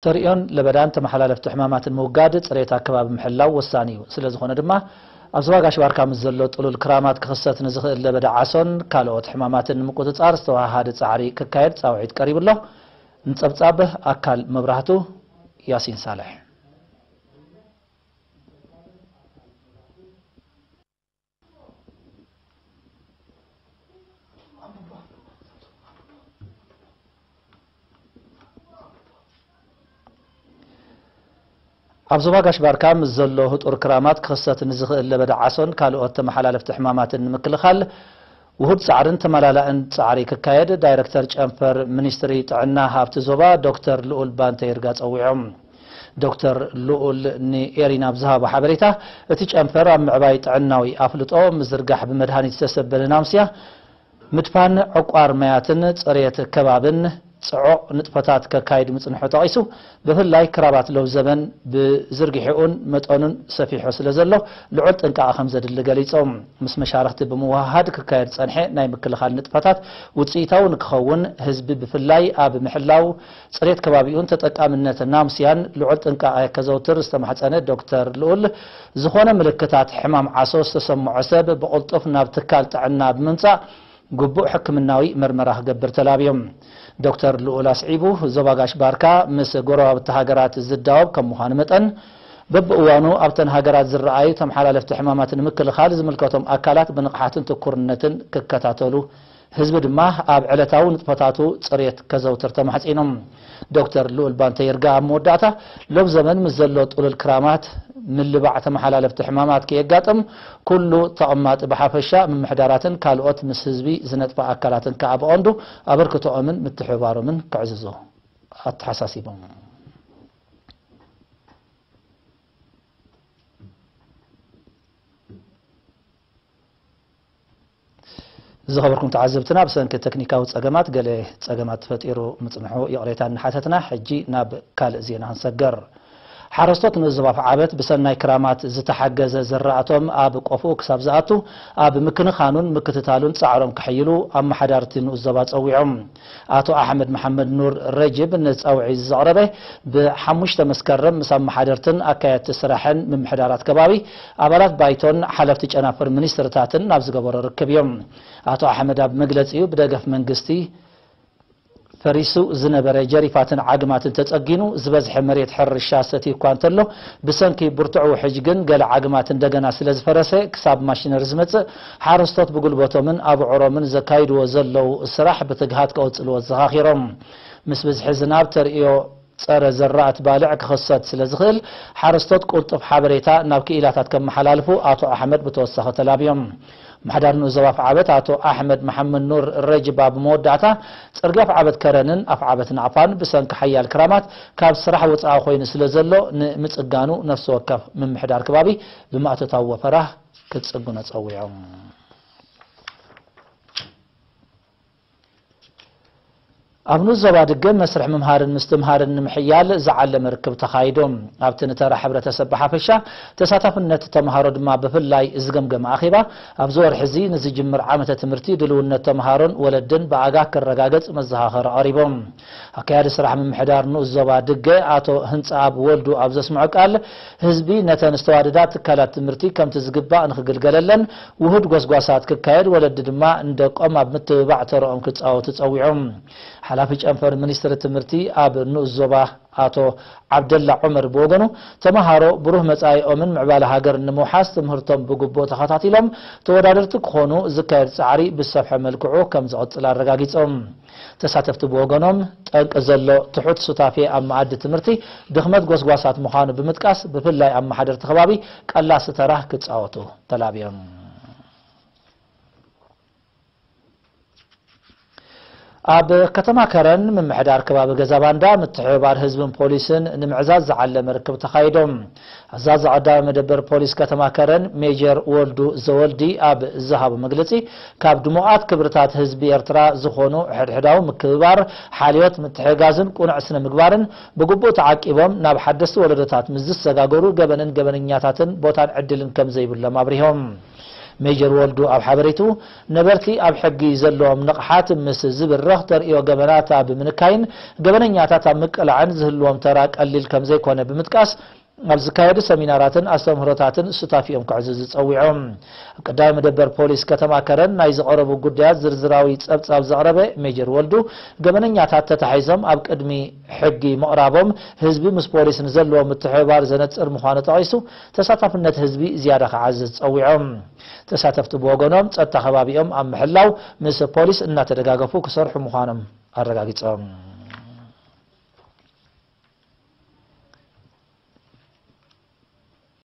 ተርእዮን ለበዳን ተመሓላለፍቲ ሕማማትን ምውጋድ፣ ጽሬት ኣከባቢ ምሕላው ወሳኒ እዩ። ስለ ዝኾነ ድማ፣ ኣብ ዞባ ጋሽ ባርካ ምስ ዘሎ ጥሉል ክራማት ክኽሰት ንዝኽእል ለበዳ ዓሶን ካልኦት ሕማማትን ንምቁጽጻር ዝተወሃሃደ ጻዕሪ ክካየድ ጻውዒት ቀሪቡ ኣሎ። ንጸብጻብ ኣካል መብራህቱ፣ ያሲን ሳልሕ። ኣብ ዞባ ጋሽ ባርካ ምስ ዘሎ ህጡር ክራማት ክኽሰት ንዝኽእል ለበዳ ዓሶን ካልኦት ተመሓላለፍቲ ሕማማትን ንምክልኻል ውሁድ ጻዕርን ተመላላእን ጻዕሪ ክካየድ ዳይረክተር ጨንፈር ሚኒስትሪ ጥዕና ሃብቲ ዞባ ዶክተር ልኡል ባንተ ይርጋ ጸዊዖም። ዶክተር ልኡል ንኤሪና ኣብ ዝሃቦ ሓበሬታ፣ እቲ ጨንፈር ኣብ ምዕባይ ጥዕናዊ ኣፍልጦ፣ ምዝርጋሕ ብመድሃኒት ዝተሰበነ ናምስያ፣ ምድፋን ዕቋር ማያትን ጽሬት ከባብን ጽዑቕ ንጥፈታት ከካይድ ምጽንሑ ጠቒሱ፣ ብፍላይ ክራባት ሎብ ዘበን ብዝርግሒኡን መጠኑን ሰፊሑ ስለ ዘሎ፣ ልዑል ጥንቃቐ ከም ዘድሊ ገሊጾም። ምስ መሻርኽቲ ብምውህሃድ ክካየድ ዝጸንሐ ናይ ምክልኻል ንጥፈታት ውጽኢታዊ ንክኸውን፣ ህዝቢ ብፍላይ ኣብ ምሕላው ጽሬት ከባቢኡን ተጠቃምነት ናምስያን ልዑል ጥንቃቐ ከዘውትር ዝተማሕጸነ ዶክተር ልኡል፣ ዝኾነ ምልክታት ሕማም ዓሶ ዝተሰምዖ ሰብ ብቕልጡፍ ናብ ትካል ጥዕና ብምምጻእ ግቡእ ሕክምናዊ መርመራ ክገብር ተላብዮም። ዶክተር ልኡል ኣስዒቡ፣ ዞባ ጋሽ ባርካ ምስ ጎረባብቲ ሃገራት ዝዳወብ ከም ምዃኑ መጠን፣ በብእዋኑ ኣብተን ሃገራት ዝረኣዩ ተመሓላለፍቲ ሕማማት ንምክልኻል ዝምልከቶም ኣካላት ብንቕሓትን ትኩርነትን ክከታተሉ፣ ህዝቢ ድማ ኣብ ዕለታዊ ንጥፈታቱ ጽሬት ከዘውትር ተማሕጺኖም። ዶክተር ልኡል ባንተ ይርጋ ኣብ መወዳእታ፣ ሎብ ዘመን ምስ ዘሎ ጥሉል ክራማት፣ ምልባዕ ተመሓላለፍቲ ሕማማት ከየጋጥም፣ ኩሉ ተቐማጢ ብሓፈሻ፣ ምምሕዳራትን ካልኦት ምስ ህዝቢ ዝነጥፋ ኣካላትን ከኣ ብቐንዱ ኣበርክቶኦምን ምትሕብባሮምን ክዕዝዙ ኣተሓሳሲቦም። ዝኸበርኩም ተዓዘብትና፣ ብሰንኪ ተክኒካዊ ጸገማት ገለ ጸገማት ተፈጢሩ ምጽንሑ ይቕሬታ እናሓተትና፣ ሕጂ ናብ ካልእ ዜና ክንሰገር። ሓረስቶት ንኡስ ዞባ ኣፍዓበት ብሰናይ ክራማት ዝተሓገዘ ዝራእቶም ኣብ ቆፎኡ ክሳብ ዝኣቱ ኣብ ምክንኻኑን ምክትታሉን ጻዕሮም ከሕይሉ ኣመሓዳርቲ ንኡስ ዞባ ጸዊዖም። ኣቶ ኣሕመድ መሓመድ ኑር ረጅብ ነዚ ጻውዒት ዘቕረበ፣ ብሓሙሽተ መስከረም ምስ ኣመሓደርትን ኣካየድቲ ስራሕን ምምሕዳራት ከባቢ፣ ኣባላት ባይቶን ሓለፍቲ ጨናፍር ሚኒስትርታትን ናብ ዝገበሮ ርክብ እዮም። ኣቶ ኣሕመድ ኣብ መግለጺኡ፣ ብደገፍ መንግስቲ ፈሪሱ ዝነበረ ጀሪፋትን ዓግማትን ተጸጊኑ፣ ዝበዝሐ መሬት ሕርሻ ሰትዩ እኳ እንተሎ፣ ብሰንኪ ብርቱዕ ውሕጅ ግን ገለ ዓግማት እንደገና ስለ ዝፈረሰ፣ ክሳብ ማሽነሪ ዝመጽእ፣ ሓረስቶት ብጉልበቶምን ኣብዑሮምን ዘካይድዎ ዘለዉ ስራሕ ብትግሃት ከቕጽልዎ ኣዘኻኺሮም። ምስ ብዝሒ ዝናብ ተርእዮ ጸረ ዘራእቲ ባልዕ ክኽሰት ስለ ዝኽእል፣ ሓረስቶት ቅልጡፍ ሓበሬታ ናብ ክኢላታት ከመሓላልፉ ኣቶ ኣሕመድ ብተወሳኺ ተላብዮም። ምሕዳር ንኡስ ዞባ ኣፍዓበት ኣቶ ኣሕመድ መሓመድ ኑር ረጅብ ኣብ መወዳእታ፣ ጽርግያ ኣፍዓበት ከረንን ኣፍዓበት ናቕፋን ብሰንኪ ሓያል ክራማት ካብ ስራሕ ወጻኢ ኮይኑ ስለ ዘሎ፣ ንምጽጋኑ ነፍሲ ወከፍ ምምሕዳር ከባቢ ብማእቶታዊ ወፈራ ክጽግኖ ጸዊዖም። ኣብ ንኡስ ዞባ ድገ መስርሕ ምምሃርን ምስትምሃርን ንምሕያል ዝዓለመ ርክብ ተኻይዱ። ኣብቲ ንተራ ሕብረተሰብ ብሓፈሻ፣ ተሳታፍነት ተምሃሮ ድማ ብፍላይ ዝገምገመ ኣኼባ፣ ኣብዚ ወርሒ እዚ ንዝጅምር ዓመተ ትምህርቲ ድልውነት ተምሃሮን ወለድን ብኣጋ ክረጋገጽ መዘኻኸሪ ቀሪቦም። ኣካያዲ ስራሕ ምምሕዳር ንኡስ ዞባ ድገ ኣቶ ህንጻኣብ ወልዱ ኣብ ዘስምዖ ቃል፣ ህዝቢ ነተን ዝተዋደዳ ትካላት ትምህርቲ ከምቲ ዝግባእ ንክግልገለለን ውሁድ ጎስጓሳት ክካየድ፣ ወለዲ ድማ ንደቆም ኣብ ምትብባዕ ተረኦም ክጻወቱ ጸዊዖም። ሓላፊ ጨንፈር ሚኒስትሪ ትምህርቲ ኣብ ንኡስ ዞባ ኣቶ ዓብደላ ዑመር ብወገኑ፣ ተመሃሮ ብሩህ መጻኢኦምን ምዕባለ ሃገርን ንምውሓስ ትምህርቶም ብግቡእ ተኸታቲሎም ተወዳደርቲ ክኾኑ ዝካየድ ጻዕሪ ብዝሰፍሐ መልክዑ ከም ዝቕጽል ኣረጋጊጾም። ተሳተፍቲ ብወገኖም፣ ጠንቂ ዘሎ ትሑት ሱታፌ ኣብ መኣዲ ትምህርቲ ድኽመት ጎስጓሳት ምዃኑ ብምጥቃስ፣ ብፍላይ ኣመሓደርቲ ከባቢ ቀላሲ ተራ ክጻወቱ ተላብዮም። ኣብ ከተማ ከረን ምምሕዳር ከባቢ ገዛ ባንዳ ምትሕብባር ህዝብን ፖሊስን ንምዕዛዝ ዝዓለመ ርክብ ተኻይዶም። ኣዛዚ ቀዳማይ መደበር ፖሊስ ከተማ ከረን ሜጀር ወልዱ ዘወልዲ ኣብ ዝሃቦ መግለጺ፣ ካብ ድሙቓት ክብርታት ህዝቢ ኤርትራ ዝኾኑ ሕድሕዳዊ ምክብባር፣ ሓልዮት፣ ምትሕግጋዝን ቅኑዕ ስነ ምግባርን ብግቡእ ተዓቂቦም ናብ ሓደስቲ ወለዶታት ምስ ዝሰጋገሩ፣ ገበንን ገበነኛታትን ቦታን ዕድልን ከም ዘይብሎም ኣብሪሆም። ሜጀር ወልዱ ኣብ ሓበሬቱ፣ ነበርቲ ኣብ ሕጊ ዘለዎም ንቕሓት ምስ ዝብረኽ፣ ተርእዮ ገበናት ኣብ ምንካይን ገበነኛታት ኣብ ምቅላዕን ዝህልዎም ተራ ቀሊል ከም ዘይኮነ ብምጥቃስ፣ ኣብ ዝካየዱ ሰሚናራትን ኣስተምህሮታትን ሱታፊኦም ክዕዝዙ ጸዊዖም። ኣብ ቀዳማይ መደበር ፖሊስ ከተማ ከረን ናይ ዝቐረቡ ጉዳያት ዝርዝራዊ ጸብጻብ ዘቕረበ ሜጀር ወልዱ፣ ገበነኛታት ተታሒዞም ኣብ ቅድሚ ሕጊ ምቕራቦም ህዝቢ ምስ ፖሊስ ንዘለዎ ምትሕብባር ዘነጽር ምዃኑ ጠቒሱ፣ ተሳታፍነት ህዝቢ ዝያዳ ክዓዝዝ ጸዊዖም። ተሳተፍቲ ብወገኖም ጸጥታ ከባቢኦም ኣብ ምሕላው ምስ ፖሊስ እናተደጋገፉ ክሰርሑ ምዃኖም ኣረጋጊጾም።